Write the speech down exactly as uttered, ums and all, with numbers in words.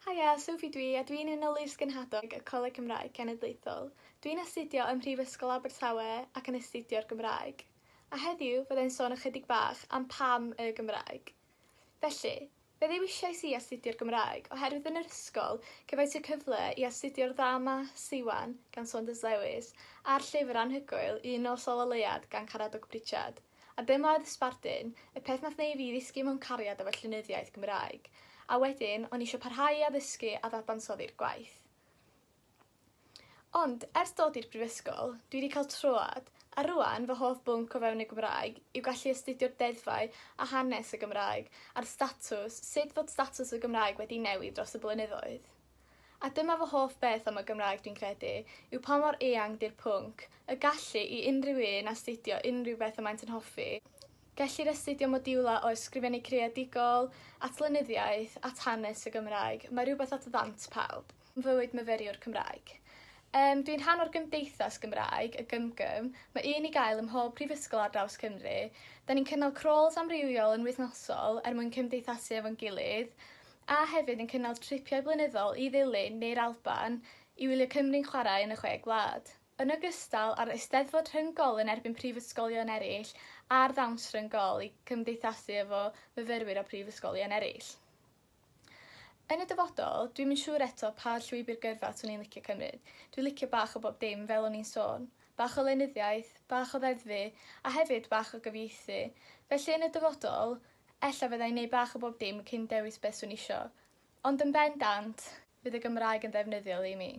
Haia, Sophie dwi a dwi'n un o Lys Genhadon y Coleg Cymraeg Cenedlaethol. Dwi'n astudio ym Mhrifysgol Abertawe ac yn astudio'r Gymraeg. A heddiw fyddai'n sôn ychydig bach am pam y Gymraeg. Felly, fe ddewisiais i astudio'r Gymraeg oherwydd yn yr ysgol cefais y cyfle i astudio'r ddrama Siwan gan Saunders Lewis a'r llyfr anhygoel Un Nos Ola Leuad gan Caradog Prichard. A dyma oedd y sbardun, y peth nath neud fi ddisgyn mewn cariad efo llenyddiaeth Gymraeg. A wedyn, o'n i eisiau parhau i addysgu a ddadansoddi'r gwaith. Ond, ers dod i'r brifysgol, dwi wedi cael troad, a rŵan fy hoff bwnc o fewn y Gymraeg yw gallu astudio'r deddfau a hanes y Gymraeg a'r statws, sut fod statws y Gymraeg wedi newid dros y blynyddoedd. A dyma fy hoff beth am y Gymraeg dwi'n credu, yw pa mor eang 'di'r pwnc, y gallu i unrhyw un astudio unrhyw beth y maent yn hoffi. Gellir astudio modiwla o ysgrifennu creadigol, at lenyddiaeth, at hanes y Gymraeg. Mae rhywbeth at ddant pawb. Fywyd myfyriwr Cymraeg. Um, dwi'n rhan o'r gymdeithas Gymraeg, y GymGym. Mae un i gael ym mhob prifysgol ar draws Cymru. Da ni'n cynnal crawls amrywiol yn wythnosol er mwyn cymdeithasu efo'n gilydd, a hefyd yn cynnal tripiau blynyddol i Ddulyn neu'r Alban i wylio Cymru'n chwarae yn y chwe gwlad. Yn ogystal â'r Eisteddfod Rhyng-gol yn erbyn prifysgolion eraill a'r ddawns rhyng-gol i cymdeithasu efo myfyrwyr o prifysgolion eraill. Yn y dyfodol, dwi'm yn siŵr eto pa llwybr gyrfa 'swn i'n licio cymryd. Dwi'n licio bach o bob dim fel o'n i'n sôn. Bach o lenyddiaeth, bach o ddeddfu, a hefyd bach o gyfieithu. Felly yn y dyfodol, ella fydda i'n neud bach o bob dim cyn dewis beth 'swn i isio. Ond yn bendant, fydd y Gymraeg yn ddefnyddiol i mi.